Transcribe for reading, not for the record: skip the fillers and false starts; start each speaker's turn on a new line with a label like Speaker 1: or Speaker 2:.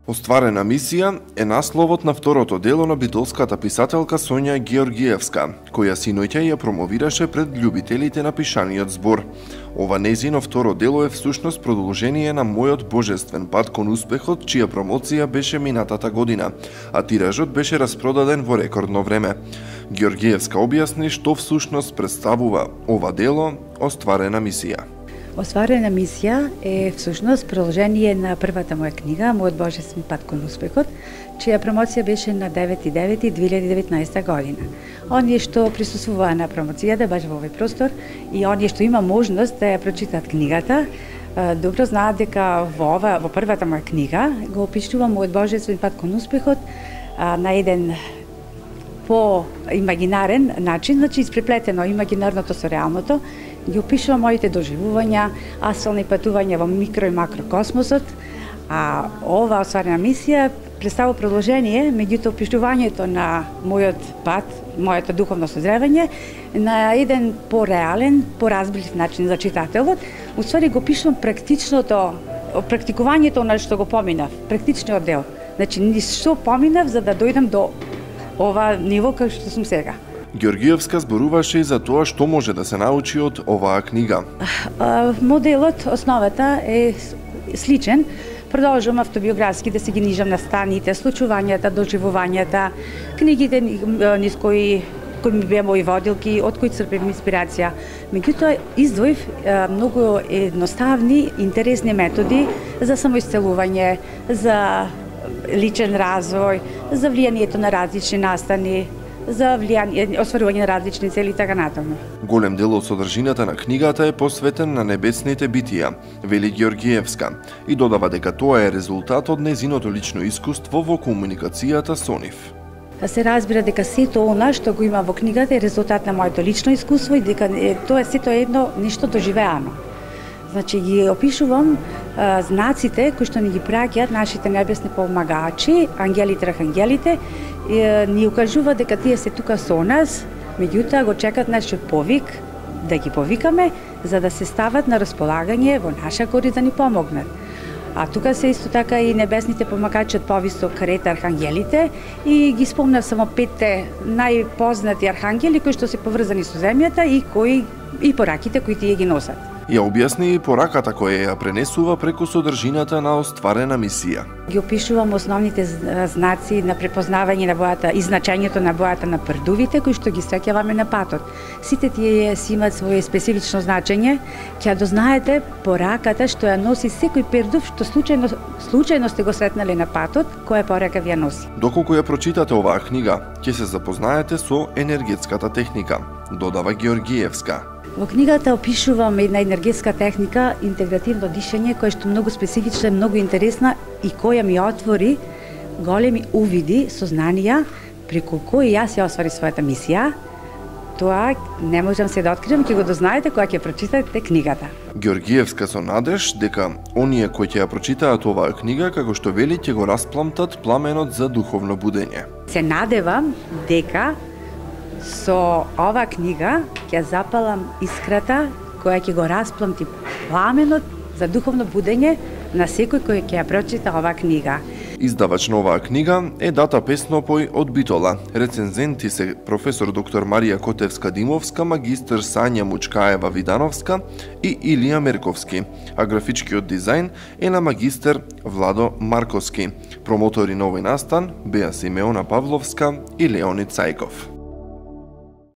Speaker 1: Остварена мисија е насловот на второто дело на битолската писателка Сонја Георгиевска, која синоќа ја промовираше пред љубителите на пишаниот збор. Ова нејзино второ дело е всушност продолжение на Мојот божествен пат кон успехот, чија промоција беше минатата година, а тиражот беше распродаден во рекордно време. Георгиевска објасни што всушност представува ова дело Остварена мисија.
Speaker 2: Остварена мисија е всушност продолжение на првата моја книга Мојот божествен пат кон успехот, чија промоција беше на 9.9.2019 година. Оние што присуствуваа на промоцијата баш во овој простор и оние што има можност да ја прочитаат книгата, добро знаат дека во првата моја книга го опишувам Мојот божествен пат кон успехот на еден по-имагинарен начин, значи испреплетено имагинарното со реалното, ги опишувам моите доживувања, астрални патувања во микро и макрокосмосот, а ова Остварена мисија представува продолжение, меѓуто опишувањето на мојот пат, моето духовно созревање, на еден по-реален, поразбрив начин за читателот. Уствари го пишувам практикувањето на што го поминав, практичниот дел. Значи, што поминав за да дојдам до ова ниво кај што сум сега.
Speaker 1: Георгиевска зборуваше и за тоа што може да се научи од оваа книга.
Speaker 2: Моделот, основата е сличен. Продолжувам автобиографски да се ги нижам на станите, случувањата, доживувањата, книгите низ кои ми беа мои водилки, од кои црпев инспирација. Меѓутоа, издвоив многу едноставни, интересни методи за самоисцелување, за личен развој, за влијанието на различни настани, за остварување на различни цели и така натаму.
Speaker 1: Голем дел од содржината на книгата е посветен на небесните битија, вели Георгиевска, и додава дека тоа е резултат од нејзиното лично искуство во комуникацијата со нив.
Speaker 2: Се разбира дека сето она што го има во книгата е резултат на моето лично искуство и дека тоа сето е едно нешто доживеано. Значи ги опишувам знаците кои што ни ги праќаат нашите небесни помагачи, ангелите, архангелите, ни укажува дека тие се тука со нас, меѓутоа го чекат нашиот повик да ги повикаме за да се стават на располагање во наша корист да ни помогнат. А тука се исто така и небесните помагачи од повисок ред архангелите и ги спомнав само 5 најпознати архангели кои што се поврзани со земјата и пораките кои тие ги носат.
Speaker 1: Ја објасни и пораката која ја пренесува преку содржината на Остварена мисија.
Speaker 2: Ги опишувам основните знаци на препознавање на бојата и значењето на бојата на прдувите кои што ги среќаваме на патот. Сите тие си имаат свое специфично значење, ќе дознаете пораката што ја носи секој пердув што случајно сте го сретнале на патот, која порака ви ја носи.
Speaker 1: Доколку ја прочитате оваа книга, ќе се запознаете со енергетската техника, додава Георгиевска.
Speaker 2: Во книгата опишувам една енергетска техника, интегративно дишење, која што многу специфична, многу интересна и која ми отвори големи увиди, сознанија, преку кои јас ја оствари својата мисија. Тоа не можам се да откриам, ќе го дознаете кога ќе прочитате книгата.
Speaker 1: Георгиевска со надеж дека оние кои ќе ја прочитаат оваа книга, како што вели, ќе го распламтат пламенот за духовно будење.
Speaker 2: Се надевам дека со ова книга ќе запалам искрата која ќе го распламти пламенот за духовно будење на секој кој ќе ја прочита оваа книга.
Speaker 1: Издавач на оваа книга е Дата Песнопој од Битола. Рецензенти се професор доктор Марија Котевска-Димовска, магистр Сања Мучкаева-Видановска и Илија Мерковски, а графичкиот дизајн е на магистер Владо Марковски. Промотори на овој настан беа Симеона Павловска и Леонид Цајков.